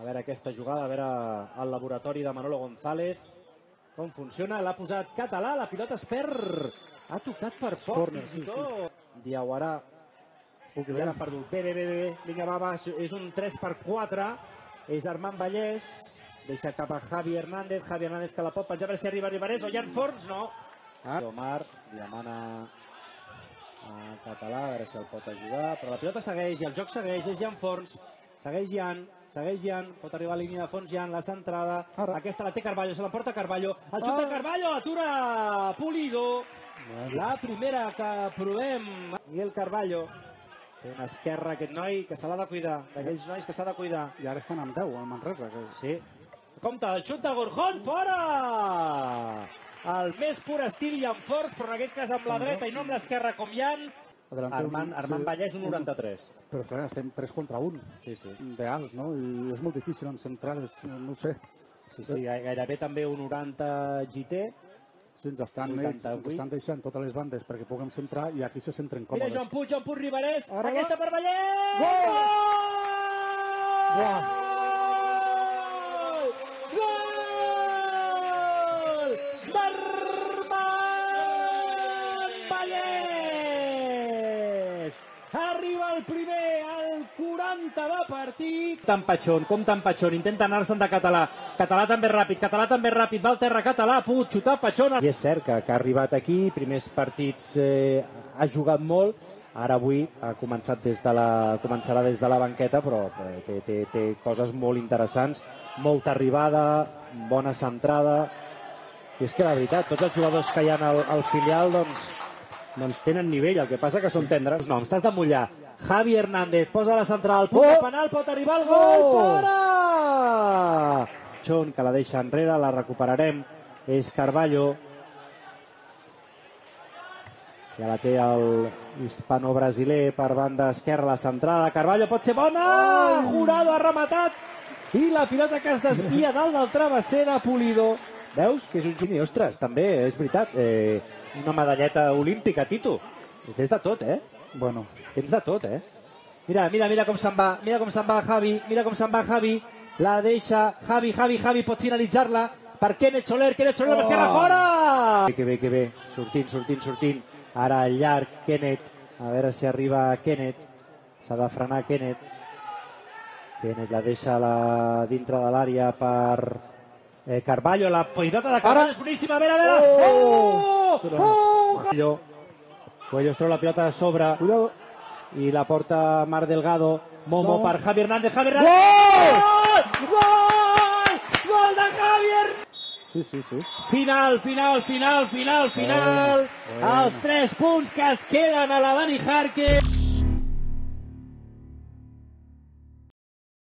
veure aquesta jugada, a veure el laboratori de Manolo González, com funciona. L'ha posat Català, la pilota es perd. Ha tocat per poc, fins i tot. Diawara. Ja l'ha perdut. Bé. Vinga, va. És un 3/4. És Armand Vallès. Deixa cap a Javi Hernández. Javi Hernández que la pot penjar, a veure si arriba Ribarés. O Jan Forns, no. Omar li demana a Català, a veure si el pot ajudar. Però la pilota segueix i el joc segueix. És Jan Forns. Segueix Jan, pot arribar a línia de fons Jan, la centrada, aquesta la té Carballo, se l'emporta Carballo, el xut de Carballo, atura Pulido, la primera que provem, Miguel Carballo, té una esquerra aquest noi que se l'ha de cuidar, d'aquells nois que s'ha de cuidar. I ara estan amb 10, al Manresa. Sí, compte, el xut de Gorjón, fora! El més pur estil Jan Forns, però en aquest cas amb la dreta i no amb l'esquerra com Jan. Armand Vallès, un 93. Però clar, estem 3 contra 1. Sí. De alts, no? I és molt difícil en centrades, no ho sé. Sí, gairebé també un 90 GT. Sí, ens estan deixant totes les bandes perquè puguem centrar i aquí se centren còmodes. Mira, Joan Puig Ribarés, aquesta per Vallès! Gol! Arriba el primer, al 40 de partit. Com tan patxón, intenta anar-se'n de Català. Català també ràpid, va al terra Català, ha pogut xutar patxón. I és cert que ha arribat aquí, primers partits ha jugat molt, ara avui ha començarà des de la banqueta, però té coses molt interessants, molta arribada, bona centrada. I és que la veritat, tots els jugadors que hi ha al filial, doncs tenen nivell, el que passa que són tendres. No, t'has de mullar. Javi Hernández posa la central, punt de penal, pot arribar el gol, fora! John, que la deixa enrere, la recuperarem, és Carballo. Ja la té el hispano-brasiler per banda esquerra, la centrada, Carballo pot ser bona! Jurado ha rematat! I la pilota que es desvia dalt del travesser de Pulido. Veus que és un juni? Ostres, també, és veritat, una medalleta olímpica, Tito. Tens de tot, Bueno. Tens de tot, Mira com se'n va, Javi, la deixa, Javi, pot finalitzar-la per Kenneth Soler, amb l'esquerra, fora! Que bé, sortint, ara al llarg, Kenneth, a veure si arriba Kenneth, s'ha de frenar Kenneth la deixa dintre de l'àrea per Carballo, la pilota de Carballo és boníssima, a veure! Coelho es treu la pilota de sobre i la porta Mar Delgado, Momo per Javi Hernández, Gol de Javier! Sí. Final, els 3 punts que es queden a la Dani Jarque.